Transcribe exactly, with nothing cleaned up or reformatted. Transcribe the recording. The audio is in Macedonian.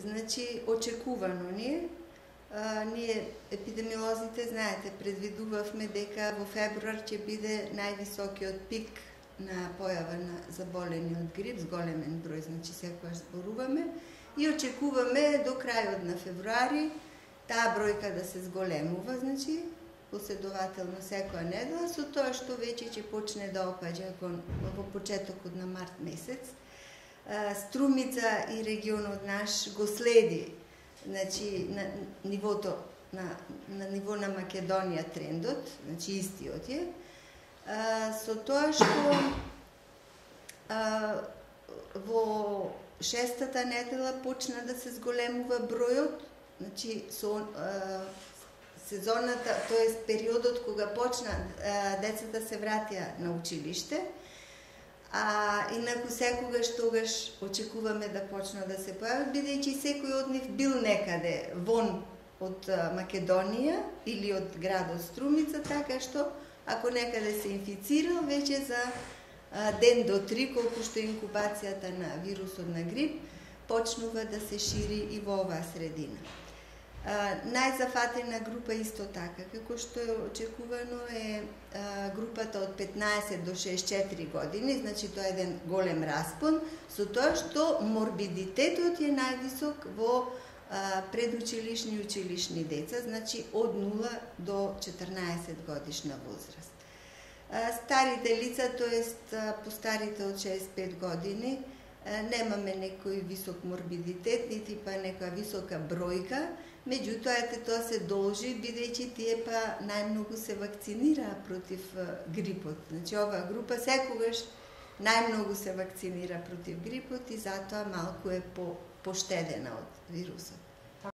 значи очекувано ни е. А, ние епидемиолозите, знаете, предвидувавме дека во февруар ќе биде највисокиот пик на појава на заболени од грип, с големен број, значи секогаш зборуваме, и очекуваме до крајот на февруари таа бројка да се зголемува, значи последователно секоја недела, со тоа што веќе ќе почне да опаѓа во почетокот на март месец. Струмица и регионот наш го следи, значи на нивото на на ниво на Македонија трендот, значи истиот е. А, со тоа што а, во шестата недела почна да се зголемува бројот, значи со а, сезоната, тоест периодот кога почна а, децата се вратија на училиште. А инаку секогаш тогаш очекуваме да почнат да се појават, бидејќи секој од нив бил некаде вон од Македонија или од градот Струмица, така што ако некаде се инфицирал, веќе за ден до три, колку што инкубацијата на вирусот на грип, почнува да се шири и во оваа средина. Uh, најзафатена група исто така, како што е очекувано, е uh, групата од петнаесет до шеесет и четири години, значи тоа е еден голем распон, со тоа што морбидитетот е највисок во uh, предучилишни и училишни деца, значи од нула до четрнаесет годишна возраст. Uh, старите лица, тоест uh, постарите од шеесет и пет години, uh, немаме некој висок морбидитет, нити па некоја висока бројка. Меѓутоа, тоа се должи, бидејќи тие па најмногу се вакцинираа против грипот. Значи, оваа група секогаш најмногу се вакцинира против грипот и затоа малку е по, поштедена од вирусот.